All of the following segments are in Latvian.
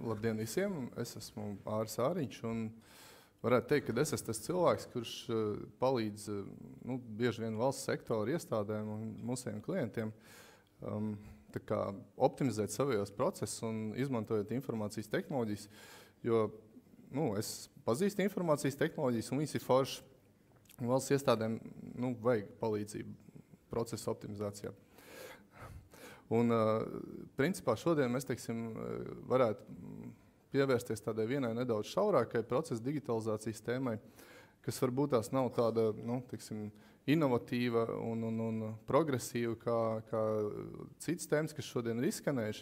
Labdien visiem! Es esmu Āris Āriņš un varētu teikt, ka es esmu tas cilvēks, kurš palīdz bieži vien valsts sektora iestādēm un mūsiem klientiem tā kā optimizēt savējos procesus un izmantojot informācijas tehnoloģijas, jo es pazīstu informācijas tehnoloģijas un viņas ir foršas. Valsts iestādēm vajag palīdzību procesu optimizācijā. Un, principā, šodien mēs varētu pievērsties tādai vienai nedaudz šaurākai procesa digitalizācijas tēmai, kas varbūt tās nav tāda inovatīva un progresīva kā citas tēmas, kas šodien ir izskanējuši,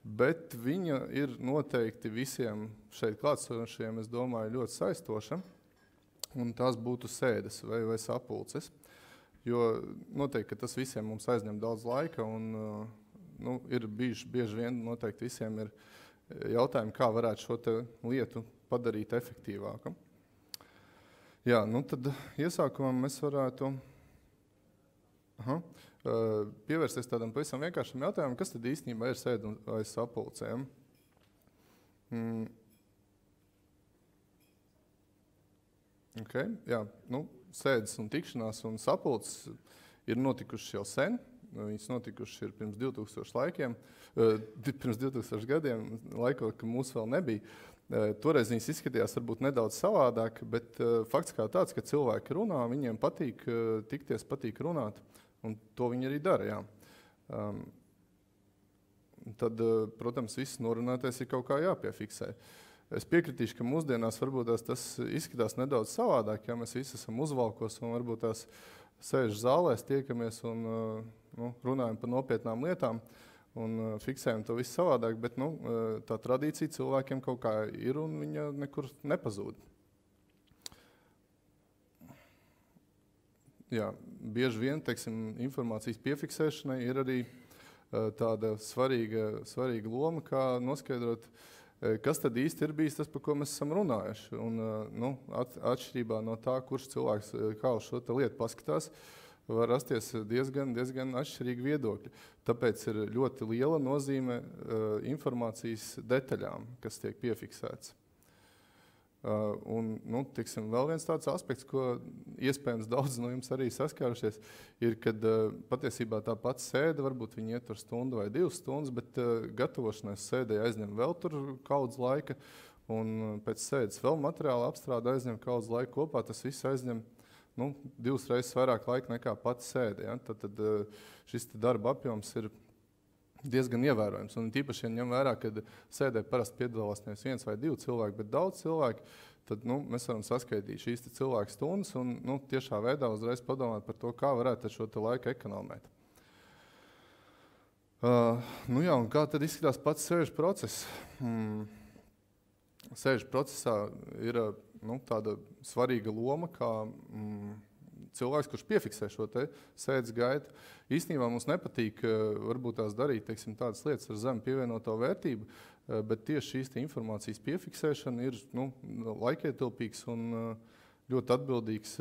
bet viņa ir noteikti visiem šeit klātsošajiem, es domāju, ļoti saistoša, un tās būtu sēdes vai sapulces. Jo noteikti, ka tas visiem mums aizņem daudz laika un ir bieži vien noteikti visiem ir jautājumi, kā varētu šo te lietu padarīt efektīvāku. Jā, tad iesākumā mēs varētu pievērsties tādam pavisam vienkāršam jautājumam, kas tad īstenībā ir sēde vai sapulcēm. Jā, sēdes un tikšanās un sapulces ir notikušas jau sen. Viņas notikušas ir pirms 2000 gadiem, laikot, ka mūs vēl nebija. Toreiz viņas izskatījās varbūt nedaudz savādāk, bet fakts kā tāds, ka cilvēki runā, viņiem patīk tikties, patīk runāt, un to viņi arī dara. Jā. Tad, protams, viss norunātais ir kaut kā jāpiefiksē. Es piekritīšu, ka mūsdienās varbūt tas izskatās nedaudz savādāk, ja mēs visi esam uzvalkos un varbūt tās sēž zālēs, tiekamies un runājam par nopietnām lietām un fiksējam to visu savādāk, bet tā tradīcija cilvēkiem kaut kā ir un viņa nekur nepazūd. Jā, bieži vien, informācijas piefiksēšanai ir arī tāda svarīga loma, kā noskaidrot, kas tad īsti ir bijis tas, par ko mēs esam runājuši. Un, atšķirībā no tā, kurš cilvēks kā uz šo lietu paskatās, var rasties diezgan atšķirīgi viedokļi. Tāpēc ir ļoti liela nozīme informācijas detaļām, kas tiek piefiksēts. Un, vēl viens tāds aspekts, ko iespējams daudz no jums arī saskārušies, ir, kad patiesībā tā pati sēde, varbūt viņi ietur stundu vai 2 stundas, bet gatavošanās sēdē aizņem vēl tur kaudz laika, un pēc sēdes vēl materiāla apstrāde aizņem kaudz laika kopā, tas viss aizņem 2 reizes vairāk laika nekā pati sēde. Ja? Tad šis darba apjoms ir diezgan ievērojams. Un tīpaši, ja ņem vērā, kad sēdē parasti piedalās nevis 1 vai 2 cilvēki, bet daudz cilvēki, tad mēs varam saskaitīt šīs cilvēku stundas un tiešā veidā uzreiz padomāt par to, kā varētu šo laiku ekonomēt. Un kā tad izskatās pats sēžu process? Sēžu procesā ir tāda svarīga loma, kā cilvēks, kurš piefiksē šo sēdes gaitu. Īstenībā mums nepatīk varbūt tās darīt tādas lietas ar zemu pievienoto vērtību, bet tieši šīs informācijas piefiksēšana ir laikietilpīgs un ļoti atbildīgs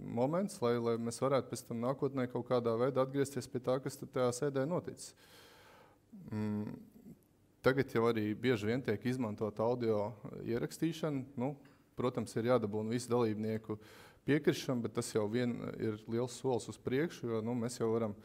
moments, lai mēs varētu pēc tam nākotnē kaut kādā veidā atgriezties pie tā, kas tajā sēdē noticis. Tagad jau arī bieži vien tiek izmantot audio ierakstīšana. Protams, ir jādabūna visu dalībnieku piekrišana, bet tas jau ir liels solis uz priekšu, jo mēs jau varam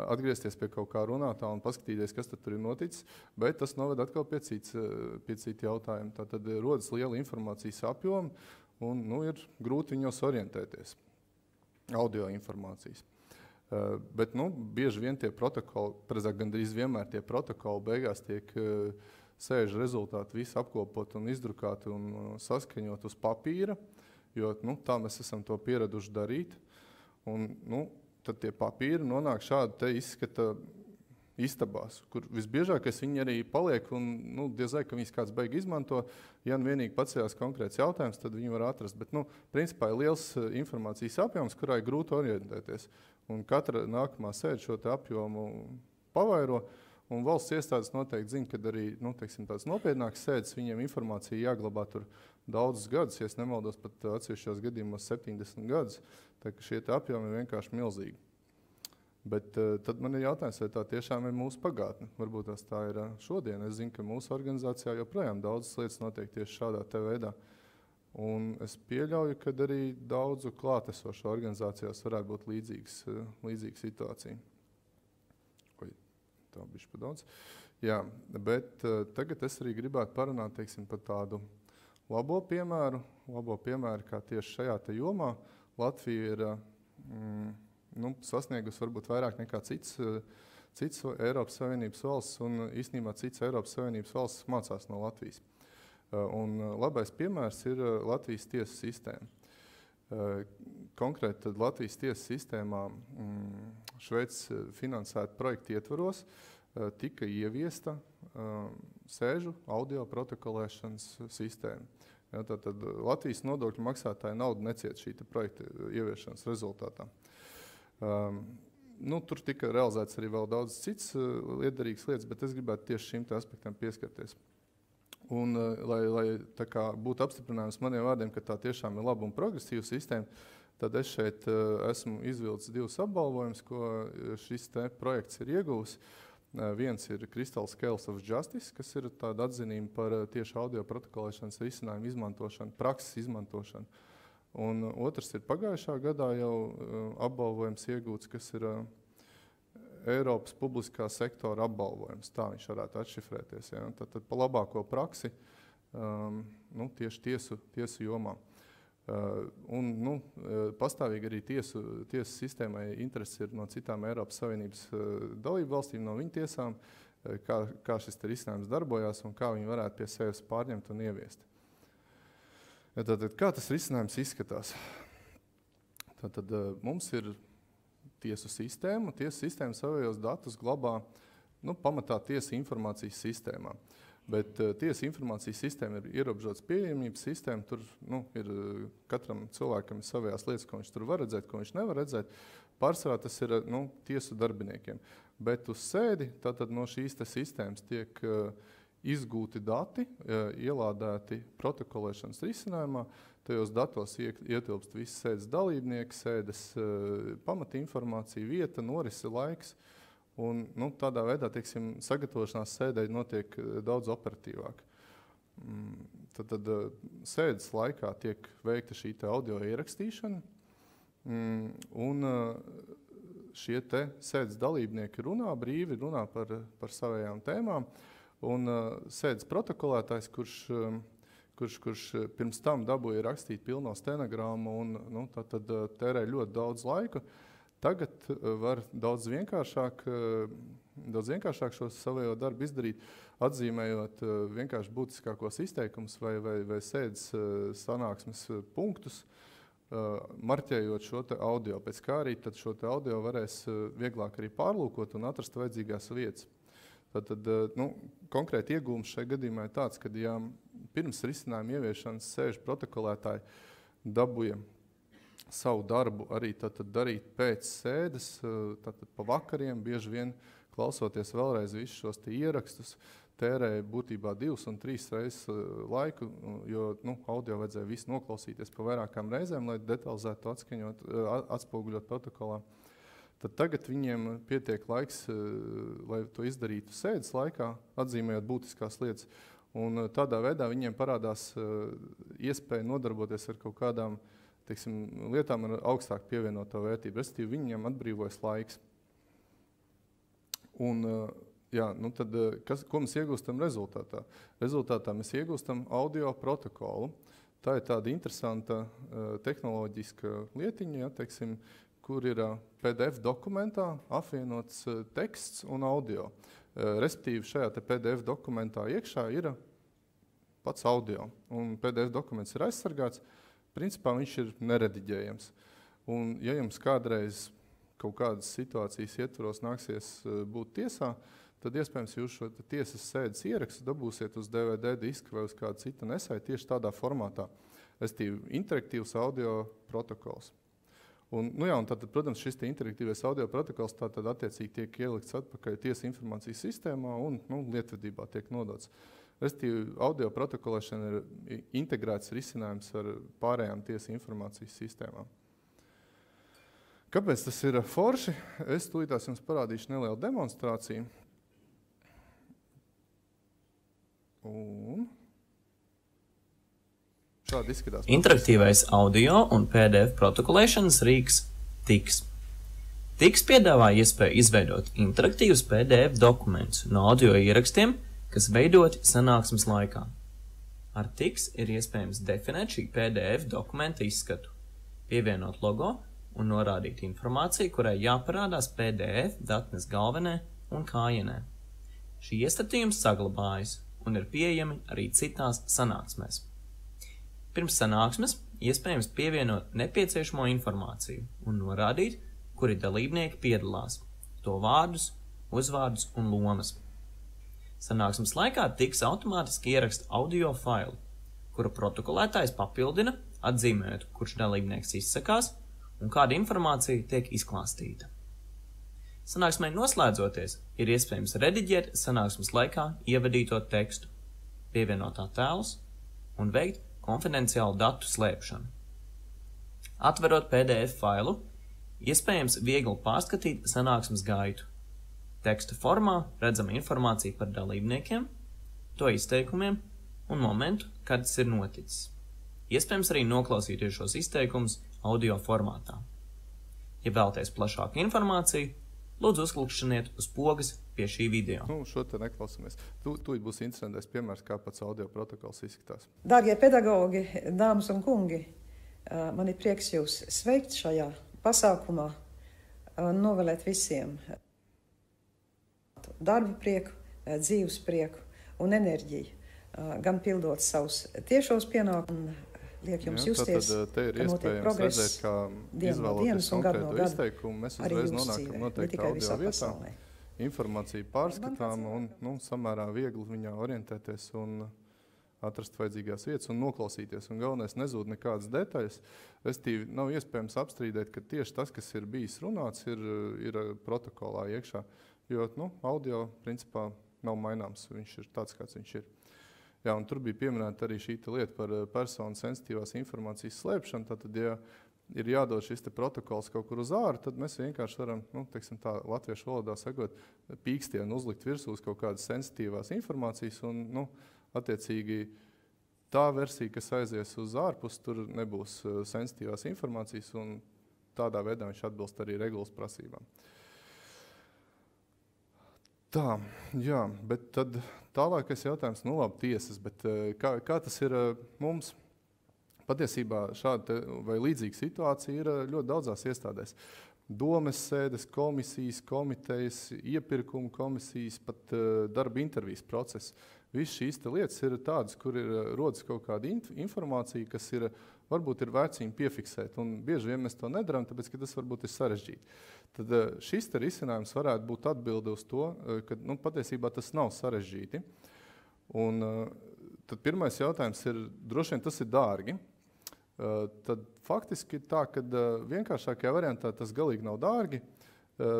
atgriezties pie kaut kā runātā un paskatīties, kas tad tur ir noticis, bet tas noved atkal pie cita jautājuma. Tātad rodas liela informācijas apjoma un ir grūti viņos orientēties, audio informācijas. Bet bieži vien tie protokoli, precīzāk gandrīz vienmēr tie protokoli beigās tiek sēžu rezultāti visi apkopot un izdrukāti un saskaņot uz papīra, jo tā mēs esam to pieraduši darīt. Un, tad tie papīri nonāk šādi te izskata istabās, kur visbiežākais viņi arī paliek un diez vai, ka viņas kāds beig izmanto. Ja vienīgi pacējās konkrēts jautājums, tad viņi var atrast. Bet, principā ir liels informācijas apjoms, kurā ir grūti orientēties. Un katra nākamā sēde šo te apjomu pavairo. Un valsts iestādes noteikti zina, kad arī tāds nopietnāks sēdes, viņiem informācija jāglabā tur daudzus gadus, ja es nemaldos pat atsevišķos gadījumos 70 gadus, tā ka šie apjomi ir vienkārši milzīgi. Bet tad man ir jautājums, vai tā tiešām ir mūsu pagātne. Varbūt tā ir šodien. Es zinu, ka mūsu organizācijā joprojām daudzas lietas notiek tieši šādā veidā. Un es pieļauju, ka arī daudzu klātesošu organizācijās varētu būt līdzīga situācija. Tā bišķi pa daudz. Jā, bet tagad es arī gribētu parunāt, teiksim, par tādu labo piemēru, kā tieši šajā jomā Latvija ir sasniegusi varbūt vairāk nekā cits Eiropas Savienības valsts, un īstenībā cits Eiropas Savienības valsts mācās no Latvijas. Un labais piemērs ir Latvijas tiesu sistēma. Konkrēti tad Latvijas tiesu sistēmā Šveices finansēta projekta ietvaros tika ieviesta sēžu audio protokolēšanas sistēma. Ja, tātad Latvijas nodokļu maksātāja naudu neciet šī projekta ieviešanas rezultātā. Tur tika realizēts arī vēl daudz cits liederīgas lietas, bet es gribētu tieši šim aspektam pieskarties. Un, lai tā kā būtu apstiprinājums maniem vārdiem, ka tā tiešām ir laba un progresīva sistēma, tad es šeit esmu izvilcis 2 apbalvojumus, ko šis projekts ir ieguvis. Viens ir Crystal Scales of Justice, kas ir tāda atzinība par tieši audio protokolēšanas risinājumu izmantošanu, prakses izmantošanu. Un otrs ir pagājušā gadā jau apbalvojums iegūts, kas ir Eiropas publiskā sektora apbalvojums. Tā viņš varētu atšifrēties. Ja? Tad pa labāko praksi tieši tiesu jomā. Pastāvīgi arī tiesu sistēmai interesi ir no citām Eiropas Savienības dalību valstīm, no viņu tiesām, kā šis risinājums darbojās un kā viņi varētu pie sevis pārņemt un ieviest. Tātad, kā tas risinājums izskatās? Tātad, mums ir tiesu sistēma. Tiesu sistēma savējos datus glabā pamatā tiesa informācijas sistēmā. Bet tiesa informācijas sistēma ir ierobežotas pieejamības sistēma. Tur ir katram cilvēkam savējās lietas, ko viņš tur var redzēt, ko viņš nevar redzēt. Pārsvarā tas ir tiesu darbiniekiem. Bet uz sēdi tātad no šīs sistēmas tiek izgūti dati, ielādēti protokolēšanas risinājumā. Tajos datos ietilpst visi sēdes dalībnieki, sēdes pamatinformācija, vieta, norise, laiks. Un, tādā veidā, teiksim, sagatavošanās sēdē notiek daudz operatīvāk. Tad sēdes laikā tiek veikta šī audio ierakstīšana, un šie sēdes dalībnieki runā brīvi, runā par savējām tēmām, un sēdes protokolētājs, kurš pirms tam dabūja rakstīt pilno stenogrammu un tad tērē ļoti daudz laika, tagad var daudz vienkāršāk šo savējo darbu izdarīt, atzīmējot vienkārši būtiskākos izteikumus vai sēdes sanāksmes punktus, marķējot šo audio. Pēc kā arī tad šo audio varēs vieglāk arī pārlūkot un atrast vajadzīgās vietas. Tad konkrēti iegūms šajā gadījumā ir tāds, ka ja pirms risinājuma ieviešanas sēžu protokolētāji dabūja savu darbu arī darīt pēc sēdes, pa vakariem, bieži vien klausoties vēlreiz visus šos ierakstus, tērēja būtībā 2 un 3 reizes laiku, jo audio vajadzēja visu noklausīties pa vairākām reizēm, lai detalizētu atspoguļot protokolā. Tad tagad viņiem pietiek laiks, lai to izdarītu sēdes laikā, atzīmējot būtiskās lietas, un tādā veidā viņiem parādās iespēja nodarboties ar kaut kādām lietām ar augstāku pievienoto vērtību, respektīvi viņiem atbrīvojas laiks. Un, tad, ko mēs iegūstam rezultātā? Rezultātā mēs iegūstam audio protokolu. Tā ir tāda interesanta tehnoloģiska lietiņa, kur ir PDF dokumentā apvienots teksts un audio. Respektīvi šajā PDF dokumentā iekšā ir pats audio, un PDF dokuments ir aizsargāts. Principā viņš ir nerediģējams. Un, ja jums kādreiz kaut kādas situācijas ietvaros nāksies būt tiesā, tad iespējams jūs šo tiesas sēdes ierakstu dabūsiet uz DVD diska vai uz kādu citu nesēju tieši tādā formātā. Respektīvi, interaktīvs audio protokols. Un tātad, protams, šis interaktīvais audio protokols tātad attiecīgi tiek ielikts atpakaļ tiesa informācijas sistēmā un lietvedībā tiek nodots. Respektīvi, audio protokolēšana ir integrēts risinājums ar pārējām tiesa informācijas sistēmām. Kāpēc tas ir forši? Es tūlītās jums parādīšu nelielu demonstrāciju. Un šādi izskatās. Interaktīvais audio un PDF protokolēšanas rīks TIX. TIX piedāvā iespēju izveidot interaktīvus PDF dokumentus no audio ierakstiem, kas veidoti sanāksmes laikā. Ar TIX ir iespējams definēt šī PDF dokumenta izskatu, pievienot logo un norādīt informāciju, kurai jāparādās PDF datnes galvenē un kājienē. Šī iestatījums saglabājas un ir pieejami arī citās sanāksmēs. Pirms sanāksmes iespējams pievienot nepieciešamo informāciju un norādīt, kuri dalībnieki piedalās, to vārdus, uzvārdus un lomas. Sanāksmes laikā TIX automātiski ieraksta audio failu, kuru protokolētājs papildina, atzīmējot, kurš dalībnieks izsakās un kāda informācija tiek izklāstīta. Sanāksmei noslēdzoties, ir iespējams rediģēt sanāksmes laikā ievadīto tekstu, pievienot attēlus un veikt konfidenciālu datu slēpšanu. Atverot PDF failu, iespējams viegli pārskatīt sanāksmes gaitu. Teksta formā redzama informācija par dalībniekiem, to izteikumiem un momentu, kad tas ir noticis. Iespējams arī noklausīties šos izteikumus audio formātā. Ja vēlaties plašāku informāciju, lūdzu uzklikšķiniet uz pogas pie šī video. Šo te neklausāmies. Tūlīt būs interesantais piemērs, kā pats audio protokols izskatās. Dārgie pedagogi, dāmas un kungi, man ir prieks jūs sveikt šajā pasākumā un novēlēt visiem darbu prieku, dzīves prieku un enerģiju, gan pildot savus tiešos pienākumus, liek jums justies, ka notiek progress dienu no dienas un gadu no gada arī jūsu dzīvē, ne tikai visā pasaulē. Informācija pārskatām un samērā viegli viņā orientēties un atrast vajadzīgās vietas un noklausīties. Un galvenais nezūd nekādas detaļas. Restīvi nav iespējams apstrīdēt, ka tieši tas, kas ir bijis runāts, ir protokolā iekšā. Jo audio principā nav maināms, viņš ir tāds, kāds viņš ir. Jā, un tur bija pieminēta arī šī lieta par personu sensitīvās informācijas slēpšanu. Tātad, ja ir jādod šis protokols kaut kur uz āru, tad mēs vienkārši varam, teiksim tā, latviešu valodā sakot, pīkstienu uzlikt virsū uz kaut kādas sensitīvās informācijas un, attiecīgi, tā versija, kas aizies uz ārpus, tur nebūs sensitīvās informācijas un tādā veidā viņš atbilst arī regulas prasībām. Tā, jā, bet tad tālākais jautājums, labi, tiesas, bet kā tas ir mums? Patiesībā šāda vai līdzīga situācija ir ļoti daudzās iestādēs. Domes sēdes, komisijas, komitejas, iepirkuma komisijas, pat darba intervijas process. Viss šīs lietas ir tādas, kur rodas kaut kāda informācija, kas varbūt ir vērts piefiksēt. Un bieži vien mēs to nedarām, tāpēc, ka tas varbūt ir sarežģīti. Tad šis risinājums varētu būt atbilde uz to, ka patiesībā tas nav sarežģīti. Un tad pirmais jautājums ir, droši vien tas ir dārgi. Tad faktiski ir tā, ka vienkāršākajā variantā tas galīgi nav dārgi.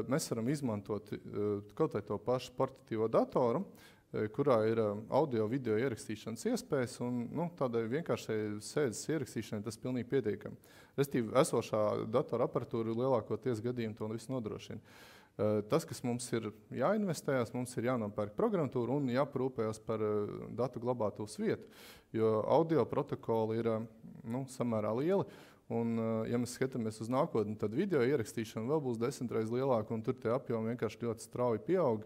Mēs varam izmantot kaut vai to pašu portatīvo datoru, kurā ir audio video ierakstīšanas iespējas, un tādai vienkāršai sēdes ierakstīšanai tas pilnīgi pietiekami. Restīvi, esošā datora aparatūra lielākoties gadījumu to visu nodrošina. Tas, kas mums ir jāinvestējās, mums ir jānopērk programmatūra un jāprūpējas par datu glabātuvas vietu, jo audio protokoli ir samērā lieli. Un, ja mēs skatāmies uz nākotni, tad video ierakstīšana vēl būs 10 reizes lielāka, un tur tie apjomi vienkārši ļoti strauji pieaug.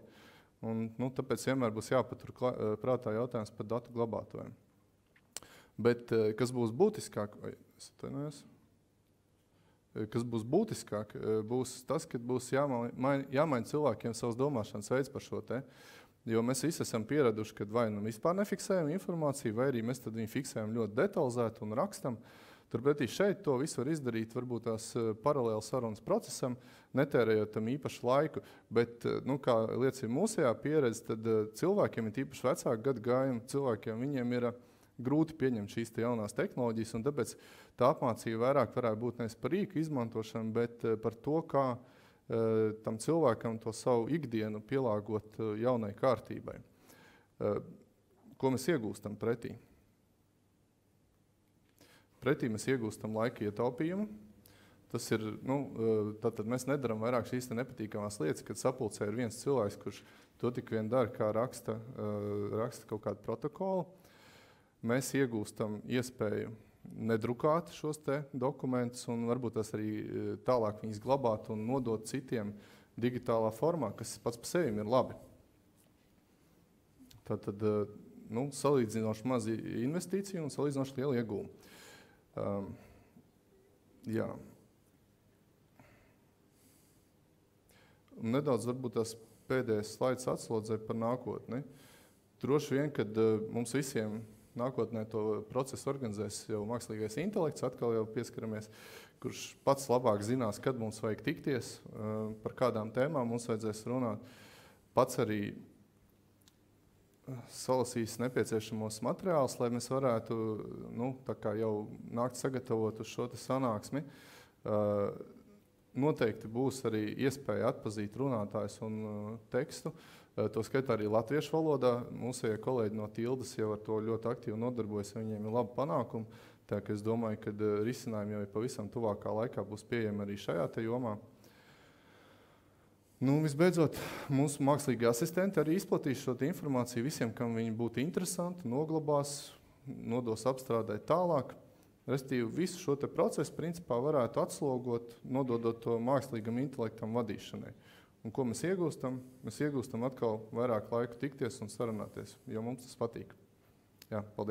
Un, tāpēc vienmēr būs jāpatur prātā jautājums par datu glabātuviem. Bet kas būs būtiskāk, būs tas, ka būs jāmaina cilvēkiem savas domāšanas veids par šo te. Jo mēs visi esam pieraduši, ka vai vispār nefiksējam informāciju, vai arī mēs tad viņu fiksējam ļoti detalizēti un rakstam. Turpretī šeit to visu var izdarīt varbūt tās paralēli sarunas procesam, netērējot tam īpašu laiku, bet, kā liecina mūsējā pieredze, tad cilvēkiem, ir īpaši vecāku gadagājumu cilvēkiem, viņiem ir grūti pieņemt šīs jaunās tehnoloģijas, un tāpēc tā apmācība vairāk varētu būt nevis par rīku izmantošanu, bet par to, kā tam cilvēkam to savu ikdienu pielāgot jaunai kārtībai. Ko mēs iegūstam pretī? Pretī mēs iegūstam laika ietaupījumu, Tas ir, tātad mēs nedaram vairāk šīs nepatīkamās lietas, kad sapulcē ir viens cilvēks, kurš to tik vien dara, kā raksta kaut kādu protokolu. Mēs iegūstam iespēju nedrukāt šos te dokumentus un varbūt tas arī tālāk viņus glabāt un nodot citiem digitālā formā, kas pats par sevi ir labi. Tātad, salīdzinoši maz investīciju un salīdzinoši liela iegūma. Jā. Un nedaudz varbūt tās pēdējais slaids atslodzē par nākotni. Droši vien, kad mums visiem nākotnē to procesu organizēs jau mākslīgais intelekts, atkal jau pieskaramies, kurš pats labāk zinās, kad mums vajag tikties, par kādām tēmām mums vajadzēs runāt. Pats arī salasīs nepieciešamos materiālus, lai mēs varētu tā kā jau nākt sagatavot uz šo sanāksmi. Noteikti būs arī iespēja atpazīt runātājus un tekstu. To skaitā arī latviešu valodā. Mūsējie kolēģi no Tildes jau ar to ļoti aktīvi nodarbojas, viņiem ir labi panākumi. Tā ka es domāju, ka risinājumi jau pavisam tuvākā laikā būs pieejami arī šajā te jomā. Visbeidzot, mūsu mākslīgie asistenti arī izplatīs šo informāciju visiem, kam viņi būtu interesanti, noglabās, nodos apstrādēt tālāk. Restīvi, visu šo te procesu principā varētu atslogot, nododot to mākslīgam intelektam vadīšanai. Un ko mēs iegūstam? Mēs iegūstam atkal vairāk laiku tikties un sarunāties, jo mums tas patīk. Jā, paldies.